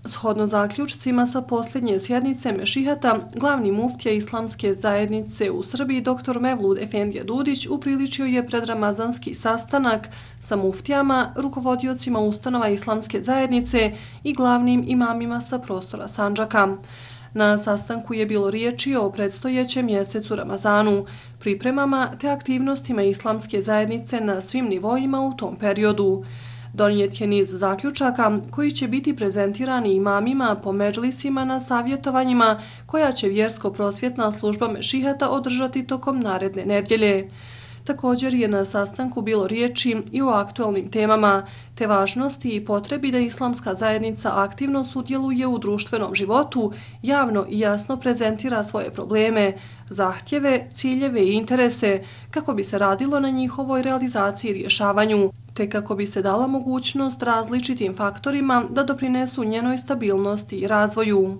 Shodno zaključcima sa posljednje sjednice Mešihata, glavni muftija Islamske zajednice u Srbiji dr. Mevlud Efendija Dudić upriličio je predramazanski sastanak sa muftijama, rukovodiocima ustanova Islamske zajednice i glavnim imamima sa prostora Sandžaka. Na sastanku je bilo riječi o predstojećem mjesecu Ramazanu, pripremama te aktivnostima Islamske zajednice na svim nivoima u tom periodu. Donijet je niz zaključaka koji će biti prezentirani imamima po medžlisima na savjetovanjima koja će vjersko-prosvjetna služba Mešihata održati tokom naredne nedjelje. Također je na sastanku bilo riječi i o aktualnim temama, te važnosti i potrebi da Islamska zajednica aktivno sudjeluje u društvenom životu, javno i jasno prezentira svoje probleme, zahtjeve, ciljeve i interese kako bi se radilo na njihovoj realizaciji i rješavanju, te kako bi se dala mogućnost različitim faktorima da doprinesu njenoj stabilnosti i razvoju.